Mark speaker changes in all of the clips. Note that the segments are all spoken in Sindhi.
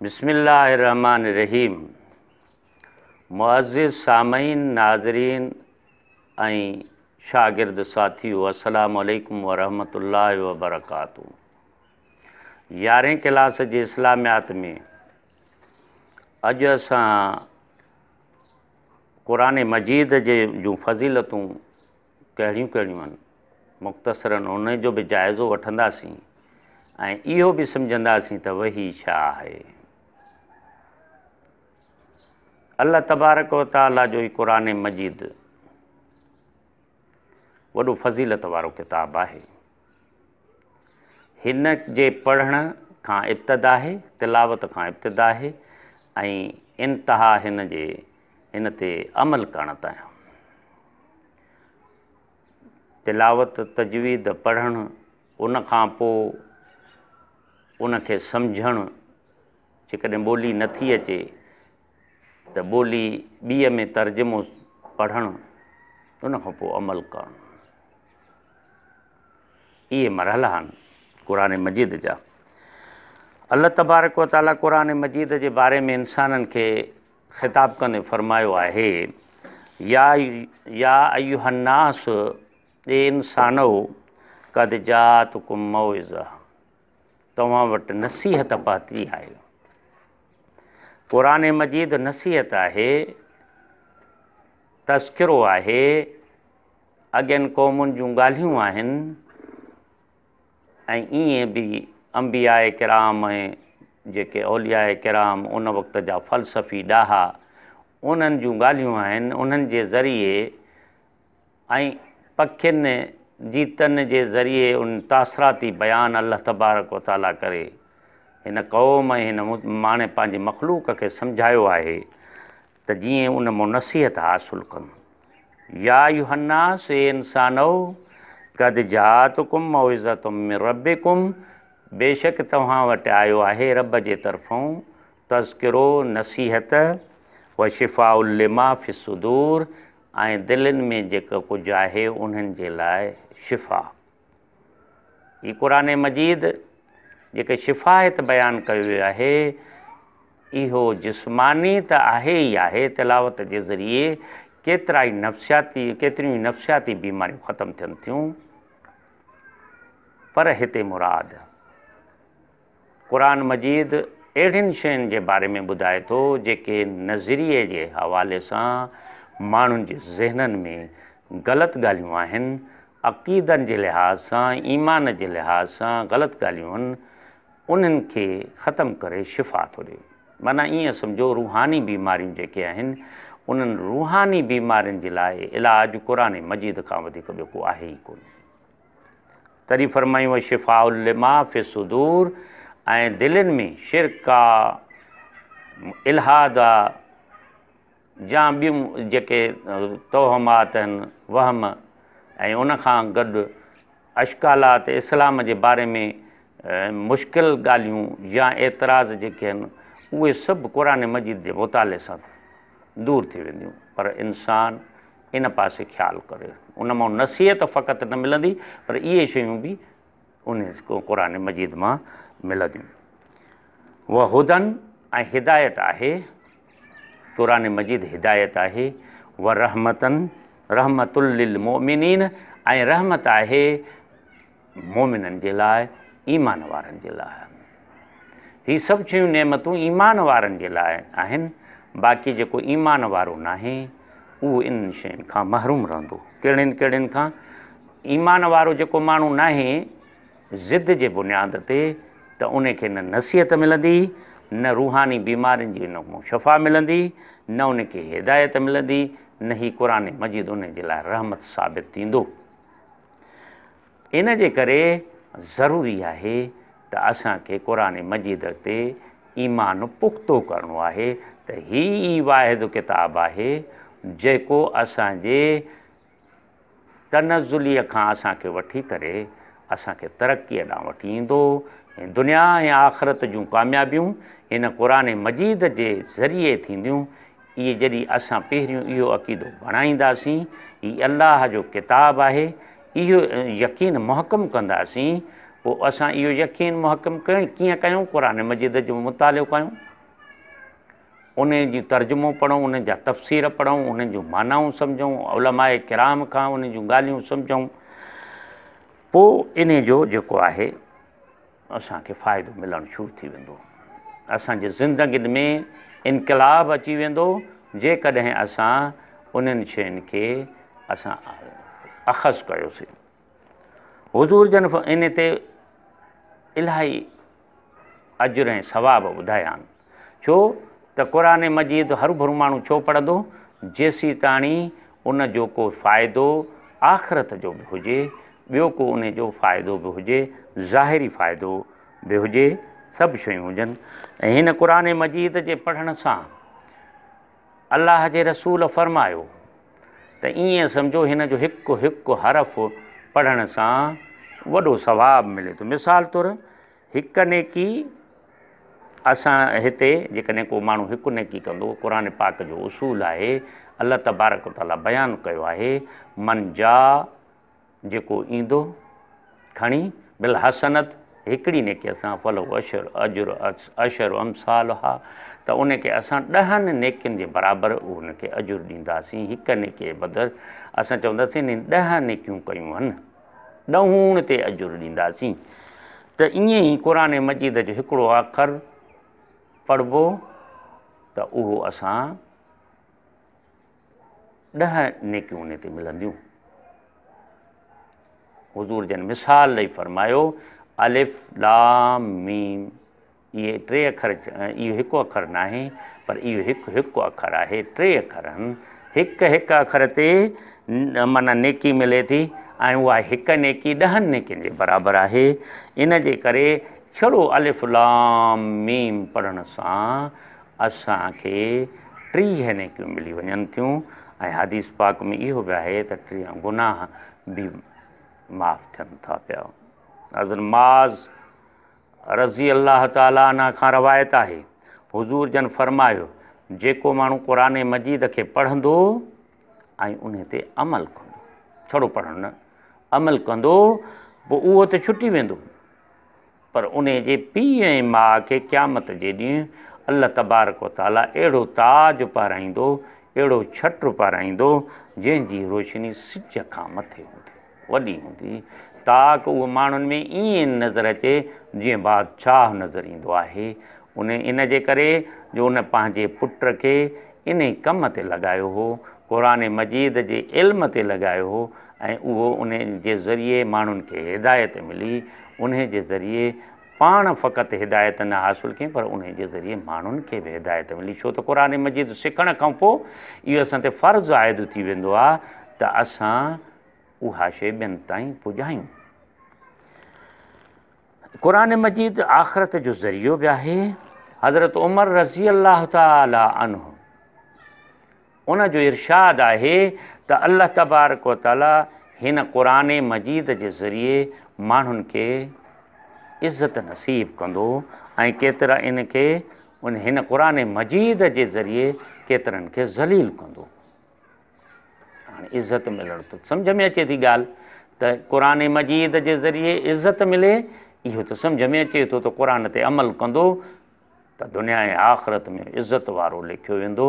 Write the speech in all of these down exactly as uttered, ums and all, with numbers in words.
Speaker 1: बिस्मिल्लाहिर्रहमानिर्रहीम। मुअज़्ज़िज़ सामईन, नाज़रीन ऐं शागिर्द साथियो, अस्सलामु अलैकुम वरहमतुल्लाहि वबरकातुहू। यारहें क्लास जे इस्लामियात में अॼु असां क़ुरान मजीद जे जूं फ़ज़ीलतूं कहिड़ियूं कहिड़ियूं आहिनि मुख़्तसरन उन जो बि जाइज़ो वठंदासीं ऐं इहो बि सम्झंदासीं त वही छा आहे। अलाह तबारक व तआला जो क़ुरान मजीद वॾो फ़ज़ीलत वारो किताब आहे। हिन जे पढ़ण खां इब्तिदा आहे, तिलावत खां इब्तिदा आहे ऐं इंतहा हिन जे हिन ते अमल करण ताईं। तिलावत, तजवीद पढ़ण, उन खां पोइ उनखे सम्झणु, जेकॾहिं ॿोली नथी अचे त ॿोली ॿीअ में तर्जुमो पढ़णु, उन खां पोइ अमल करणु, इहे मरहला आहिनि क़ुरान मजीद जा। अलाह तबारक व तआला क़ुरान मजीद जे बारे में इंसाननि खे ख़िताब कंदे फ़रमायो आहे, या या अय्युहन्नास, ए इंसानो, कद जातकुम मौइज़ा, तव्हां वटि नसीहत पहुती आहे। क़ुरान मजीद नसीहत आहे, तज़किरो आहे, अॻियनि क़ौमुनि जूं ॻाल्हियूं आहिनि ऐं ईअं बि अंबिया किराम ऐं जेके औलिया किराम उन वक़्त जा फ़लसफ़ी ॾाहा उन्हनि जूं ॻाल्हियूं आहिनि, उन्हनि जे ज़रिए ऐं पखियुनि जीतनि जे ज़रिए उन तासराती बयान अलाह तबारक व तआला करे हिन क़ौम ऐं हिन माणे पंहिंजी मख़लूक खे सम्झायो आहे त जीअं उन मां नसीहत हासिलु कनि। या अय्युहन्नास, ए इंसानो, कद जातकुम मौइज़तुम मिन रब्बिकुम, बेशक तव्हां वटि आयो आहे रब जे तरफ़ों तज़किरो, नसीहत, व शिफ़ाउल लिमा फ़िस्सुदूर, ऐं दिलनि में जेको कुझु आहे उन्हनि जे लाइ शिफ़ा। हीउ क़ुरान मजीद जेके शिफ़ा हिते बयानु कयो वियो आहे, इहो जिस्मानी त आहे ई आहे, तिलावत जे ज़रिए केतिरा ई नफ़्सियाती केतिरियूं ई नफ़्सियाती बीमारियूं ख़तमु थियनि थियूं। पर हिते मुराद क़ुरान मजीद अहिड़ियुनि शयुनि जे बारे में ॿुधाए थो जेके नज़रिए जे हवाले सां माण्हुनि जे ज़हननि में ग़लति ॻाल्हियूं आहिनि, अक़ीदनि जे लिहाज़ सां, ईमान जे लिहाज़ सां ग़लति ॻाल्हियूं आहिनि, उन्हनि खे ख़तमु करे शिफ़ा थो ॾिए। माना ईअं सम्झो रूहानी बीमारियूं जेके आहिनि उन्हनि रूहानी बीमारियुनि जे लाइ इलाज क़ुरान मजीद खां वधीक ॿियो को आहे ई कोन। तॾहिं फरमायूं शिफ़ाउल लिमा फ़िस्सुदूर, ऐं दिलनि में शिरक आहे, इल्हाद आहे, या ॿियूं जेके तोहमात आहिनि, वहम ऐं उन खां गॾु अश्कालात इस्लाम जे बारे में मुश्किल ॻाल्हियूं या एतिराज़ जेके आहिनि उहे सभु क़ुरान मजीद जे मुताले सां दूर थी वेंदियूं। पर इंसान इन पासे ख़्यालु करे, उन मां नसीहत फ़क़ति न मिलंदी पर इहे शयूं बि उन क़ुरान मजीद मां मिलंदियूं। वह हुदन, ऐं हिदायत आहे, क़ुरान मजीद हिदायत आहे। व रहमतन, रहमतुल लिल मोमिनीन, ऐं रहमत आहे मोमिननि जे लाइ, ईमान वारनि जे लाइ। ही सभु शयूं नेमतूं ईमान वारनि जे लाइ आहिनि, बाक़ी जेको ईमान वारो नाहे उहो इन्हनि शयुनि खां महरूम रहंदो। कहिड़ियुनि कहिड़ियुनि खां? ईमान वारो जेको माण्हू नाहे ज़िद जे बुनियाद ते, त उनखे न नसीहत मिलंदी, न रूहानी बीमारियुनि जी न शफ़ा मिलंदी, न उनखे हिदायत मिलंदी, न ही क़ुरान मजीद उन जे लाइ रहमत साबित थींदो। इन जे करे ज़रूरी आहे त असांखे क़ुरान मजीद ते ईमान पुख़्तो करिणो आहे त ही ई वाहिदु किताब आहे जेको असांजे तनज़ुलीअ खां असांखे वठी करे असांखे तरक़ीअ ॾांहुं वठी ईंदो। दुनिया ऐं आख़िरत जूं कामयाबियूं हिन क़ुरान मजीद जे ज़रिए थींदियूं। इहे जॾहिं असां पहिरियों इहो अक़ीदो बणाईंदासीं, हीउ अलाह जो किताब आहे, इहो यकीन मुहकम कंदासीं, پوءِ اسان اهو يقين محڪم ڪيئن ڪيون؟ قرآن مجيد جو مطالعو ڪيون، ان جي ترجمو پڙهون، ان جا تفسير پڙهون، انهن جون معنائون سمجهون، علماء ڪرام کان ان جون ڳالهيون سمجهون، پوءِ ان جو جيڪو آهي اسان کي فائدو ملڻ شروع ٿي ويندو، اسان جي زندگين ۾ انقلاب اچي ويندو جيڪڏهن اسان انهن شين کي اسان اخذ ڪيوسين. حضور جن ان تي الاهي اجر ۽ ثواب ٻڌايا آهن. ڇو ته قرآن مجيد هر ڀرو ماڻهو ڇو پڙهندو؟ جيسين تاڻي ان جو ڪو فائدو آخرت جو به هجي، ٻيو ڪو ان جو فائدو به هجي، ظاهري فائدو به هجي، سڀ شيون هجن. ۽ هن قرآن مجيد جي پڙهڻ سان الله جي رسول فرمايو ته ائين سمجهو هن جو هڪ هڪ حرف پڙهڻ سان وڏو ثواب ملي ٿو. مثال طور هڪ نيڪي اسان هتي جيڪڏهن ڪو ماڻهو هڪ نيڪي ڪندو، قرآن پاڪ جو اصول آهي، الله تبارڪ تعاليٰ بيان ڪيو آهي، من جا جيڪو ايندو کڻي بالحسنت هڪڙي نيڪي اسان فلو اشر اجر اشر امثالها، ته ان کي اسان ڏهن نيڪين جي برابر ان کي اجر ڏينداسين. هڪ نيڪي جي بدر اسان چونداسين ڏهه نيڪيون ڪيون آهن، ڏهوڻ تي اجر ڏينداسين. ته ائين ئي قرآن مجيد جو هڪڙو اکر پڙهبو ته اهو اسان ڏهه نيڪيون ان تي ملنديون. حضور جن مثال ڏيئي فرمايو الف لام ميم، اهي ٽي اکر، اهو هڪ اکر نه آهي پر اهو هڪ هڪ اکر آهي، ٽي اکر آهن. هڪ هڪ اکر تي معنيٰ نيڪي ملي ٿي ۽ اها هڪ نيڪي ڏهن نيڪين جي برابر آهي. ان جي ڪري ڇڙو الف لام ميم پڙهڻ سان اسان کي ٽيهه نيڪيون ملي وڃن ٿيون. ۽ حديث پاڪ ۾ اهو به آهي ته ٽيهه گناهه به معاف ٿين ٿا پيا. حضرت معاذ رضي الله تعاليٰ عنه کان روايت آهي، حضور جن فرمايو جيڪو ماڻهو قرآن مجيد کي پڙهندو ۽ ان تي عمل ڪندو، ڇڙو پڙهڻ نه، عمل ڪندو، پوءِ اهو ته ڇٽي ويندو، پر ان جي پيءُ ۽ ماءُ کي قيامت جي ڏينهن الله تبارڪ و تعاليٰ اهڙو تاج پارائيندو، اهڙو ڇٽ پارائيندو جنهن جي روشني سج کان مٿي هوندي، وڏي هوندي، تاڪ اهو ماڻهن ۾ ائين نظر اچي جيئن بادشاهه نظر ايندو آهي. ان ان جي ڪري جو ان پنهنجي پٽ کي ان ڪم تي لڳايو هو، قرآن مجيد جي علم تي لڳايو هو، ۽ اهو ان جي ذريعي ماڻهن کي هدايت ملي. ان جي ذريعي پاڻ فقط هدايت نه حاصل ڪئي پر ان جي ذريعي ماڻهن کي به هدايت ملي. ڇو ته قرآن مجيد سکڻ کان پوءِ اهو اسان تي فرض عائد ٿي ويندو آهي ته اسان اها شيءِ ٻين تائين پڄايون. قرآن مجيد آخرت جو ذريعو به آهي. حضرت عمر رضي الله تعاليٰ عنه ان جو ارشاد آهي ته الله تبارڪ و تعاليٰ هن قرآن مجيد جي ذريعي ماڻهن کي عزت نصيب ڪندو ۽ ڪيترا ان کي ان هن قرآن مجيد جي ذريعي ڪيترن کي ذليل ڪندو. هاڻي عزت ملڻ ته سمجهه ۾ اچي ٿي ڳالهه ته قرآن مجيد جي ذريعي عزت ملي، اهو ته سمجهه ۾ اچي ٿو ته قرآن تي عمل ڪندو ته دنيا ۽ آخرت ۾ عزت وارو لکيو ويندو،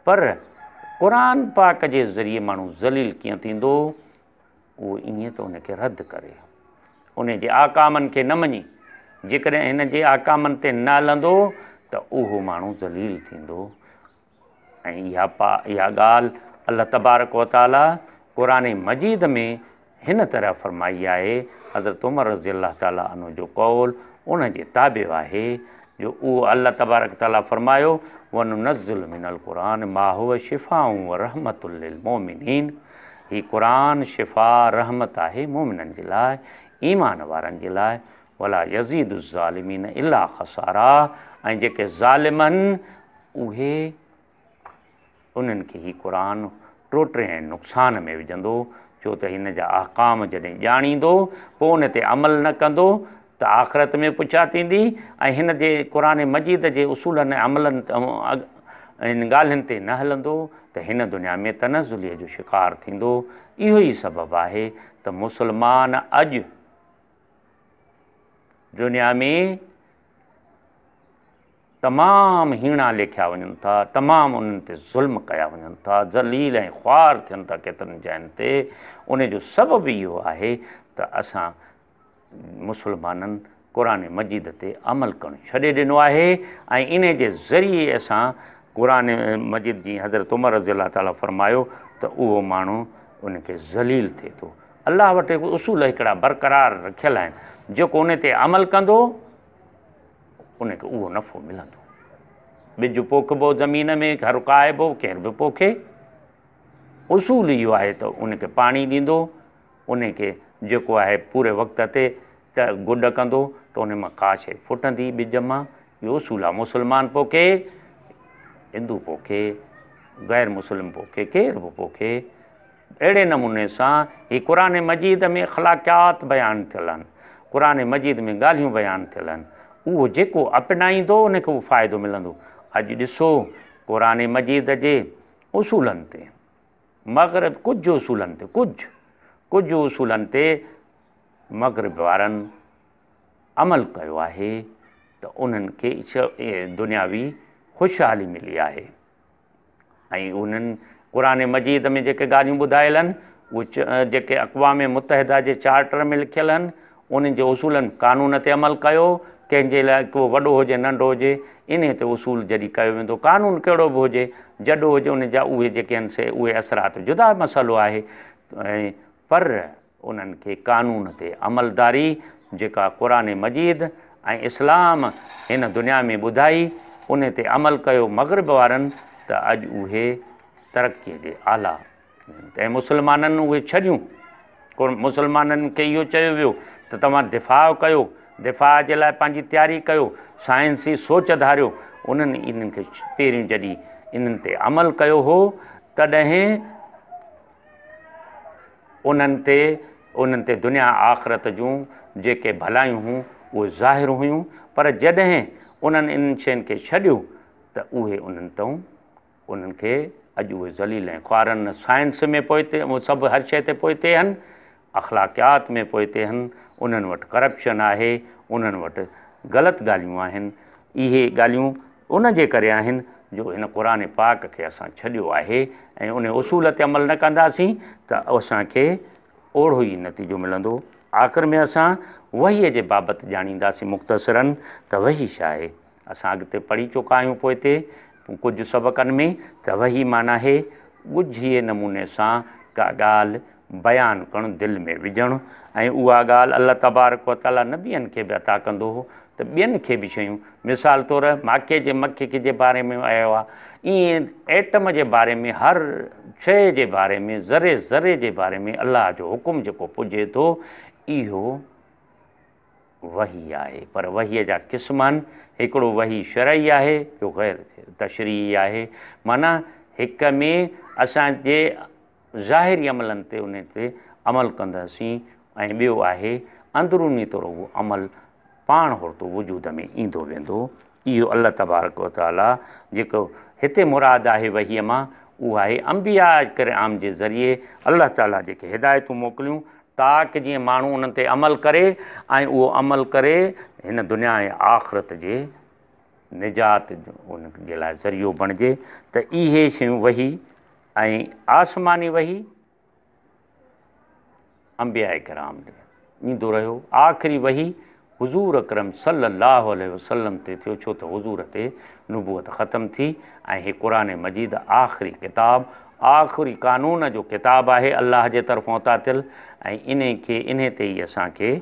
Speaker 1: پر قرآن پاڪ جي ذريعي ماڻهو ذليل ڪيئن ٿيندو؟ اهو ائين ته ان کي رد ڪري، ان جي آڪامن کي نه مڃي. جيڪڏهن هن جي آڪامن تي نه هلندو ته اهو ماڻهو ذليل ٿيندو. ۽ اها پا اها ڳالهه الله تبارڪ و تعاليٰ قرآن مجيد ۾ هن طرح فرمائي آهي. حضرت عمر رضي الله تعاليٰ عنه جو قول ان جي تابع آهي جو اهو الله تبارڪ تعاليٰ فرمايو وننزل من القرآن ما هو شفاء ورحمة للمؤمنين. هي قرآن شفا رحمت آهي مومنن جي لاءِ، ايمان وارن جي لاءِ. ولا يزيد الظالمين الا خسارا، ۽ جيڪي ظالم آهن اهي انهن کي هي قرآن ٽوٽي ۽ نقصان ۾ وجهندو. ڇو ته هن جا احڪام جڏهن ڄاڻيندو پوءِ ان تي عمل نه ڪندو ته آخرت ۾ پڇا ٿيندي، ۽ هن جي قرآن مجيد جي اصولن ۽ عملن هن ڳالهين تي نه هلندو ته هن دنيا ۾ تنزليءَ جو شڪار ٿيندو. اهو ئي سبب آهي ته مسلمان اڄ دنيا ۾ تمام هيڻا ليکيا وڃن ٿا، تمام انهن تي ظلم ڪيا وڃن ٿا، ذليل ۽ خوار ٿين ٿا ڪيترن جاين تي۔ ان جو سبب اهو آهي ته اسان مسلمانن قرآن مجيد تي عمل ڪرڻ ڇڏي ڏنو آهي ۽ ان جي ذريعي اسان قرآن مجيد جي حضرت عمر رضي الله تعاليٰ فرمايو ته اهو ماڻهو ان کي ذليل ٿئي ٿو۔ الله وٽ هڪ اصول هڪڙا برقرار رکيل آهن، جيڪو ان تي عمل ڪندو ان کي اهو نفعو ملندو۔ ٻج پوکبو زمين ۾، گهر ڪاهبو، ڪير به پوکي، اصول اهو آهي ته ان کي پاڻي ڏيندو، ان کي جيڪو آهي پوري وقت تي ته گڏ ڪندو ته ان مان ڪا شيءِ ڦٽندي ٻج مان۔ اهو اصول آهي۔ مسلمان پوکي، هندو پوکي، غير مسلم پوکي، ڪير به پوکي، اهڙي نموني سان هي قرآن مجيد ۾ اخلاقيات بيان ٿيل آهن، قرآن مجيد ۾ ڳالهيون بيان ٿيل آهن، اهو جيڪو اپنائيندو ان کي اهو فائدو ملندو۔ اڄ ڏسو قرآن مجيد جي اصولن تي مغرب ڪجهه اصولن تي ڪجهه ڪجهه اصولن تي مغرب وارن عمل ڪيو آهي ته انهن کي دنياوي خوشحالي ملي آهي ۽ انهن قرآن مجيد ۾ جيڪي ڳالهيون ٻڌايل آهن اهي جيڪي اقوام متحده جي چارٽر ۾ لکيل آهن انهن جي اصولن قانون تي عمل ڪيو، ڪنهن جي لاءِ ڪو وڏو هجي ننڍو هجي ان تي اصول جڏهن ڪيو ويندو، قانون ڪهڙو به هجي جڏو هجي ان جا اهي جيڪي آهن سي اهي اثرات جدا مسئلو آهي، ۽ پر انهن کي قانون تي عملداري جيڪا قرآن مجيد ۽ اسلام هن دنيا ۾ ٻڌائي ان تي عمل ڪيو مغرب وارن ته اڄ اهي ترقيءَ جي اعليٰ ۽ مسلمانن اهي ڇڏيون۔ مسلمانن کي اهو چيو ويو ته توهان دفاع ڪيو، دفاع جي لاءِ پنهنجي تياري ڪيو، سائنسي سوچ ڌاريو۔ انهن انهن کي پهريون جڏهن انهن تي عمل ڪيو هو تڏهن انهن تي انهن تي دنيا آخرت جون جيڪي ڀلايون هيون اهي ظاهر هيون، پر جڏهن انهن انهن شين کي ڇڏيو ته اهي انهن تئون انهن کي اڄ اهي ذليل ۽ خوارن سائنس ۾ پوئتي سڀ هر شيءِ تي پوئتي آهن، اخلاقيات ۾ پوئتي آهن، انهن وٽ ڪرپشن آهي، انهن وٽ غلط ڳالهيون آهن۔ اهي ڳالهيون ان جي ڪري آهن جو هن قرآن پاڪ کي اسان ڇڏيو آهي ۽ ان اصول تي عمل نه ڪنداسين ته اسان کي اوڙو ئي نتيجو ملندو۔ آخر ۾ اسان وحيءَ جي بابت ڄاڻينداسين مختصراً ته وحي ڇا آهي۔ اسان اڳتي پڙهي چڪا آهيون پوئتي ڪجهه سبقن ۾ ته وحي معنيٰ آهي ڳجهي نموني سان ڪا ڳالهه بيان ڪرڻ، دل ۾ وجهڻ، ۽ اها ڳالهه الله تبارڪ و تعاليٰ نبين کي به عطا ڪندو هو ته ٻين کي به شيون، مثال طور ماکي جي مکي جي باري ۾ آيو آهي، ائين ايٽم جي باري ۾ هر شيءِ جي باري ۾ ذري ذري جي باري ۾ الله جو حڪم جيڪو پڄي ٿو اهو وحي آهي۔ پر وحيءَ جا قسم آهن، هڪڙو وحي شرعي آهي ٻيو غير تشريعي آهي، معنيٰ هڪ ۾ اسان جي ظاهري عملن تي ان تي عمل ڪنداسين ۽ ٻيو آهي اندروني طور اهو عمل پاڻ هورتو وجود ۾ ايندو ويندو۔ اهو الله تبارڪ و تعاليٰ جيڪو هتي مراد آهي وحيءَ مان اهو آهي انبيا ڪرام جي ذريعي الله تعاليٰ جيڪي هدايتون موڪليون تاڪه جيئن ماڻهو انهن تي عمل ڪري ۽ اهو عمل ڪري هن دنيا ۽ آخرت جي نجات ان جي لاءِ ذريعو بڻجي۔ ته اهي شيون وحي ۽ آسماني وحي انبيا ڪرام ڏي ايندو رهيو۔ آخري وحي حضور اڪرم صلي الله عليه وسلم تي ٿيو، ڇو ته حضور تي نبوت ختم ٿي ۽ هي قرآن مجيد آخري ڪتاب، آخري قانون جو ڪتاب آهي الله جي طرفان عطا ٿيل ۽ ان کي ان تي ئي اسان کي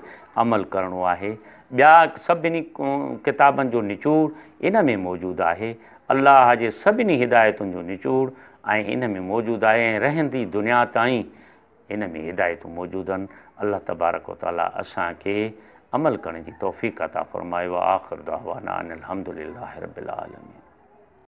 Speaker 1: عمل ڪرڻو آهي۔ ٻيا سڀني ڪتابن جو نچوڙ ان ۾ موجود آهي، الله جي سڀني هدايتن جو نچوڙ ۽ ان ۾ موجود آهي ۽ رهندي دنيا تائين ان ۾ هدايتون موجود آهن۔ الله تبارڪ و تعاليٰ اسان کي عمل ڪرڻ جي توفيق عطا فرمائي۔ وآخر دعوانا ان الحمد لله رب العالمين۔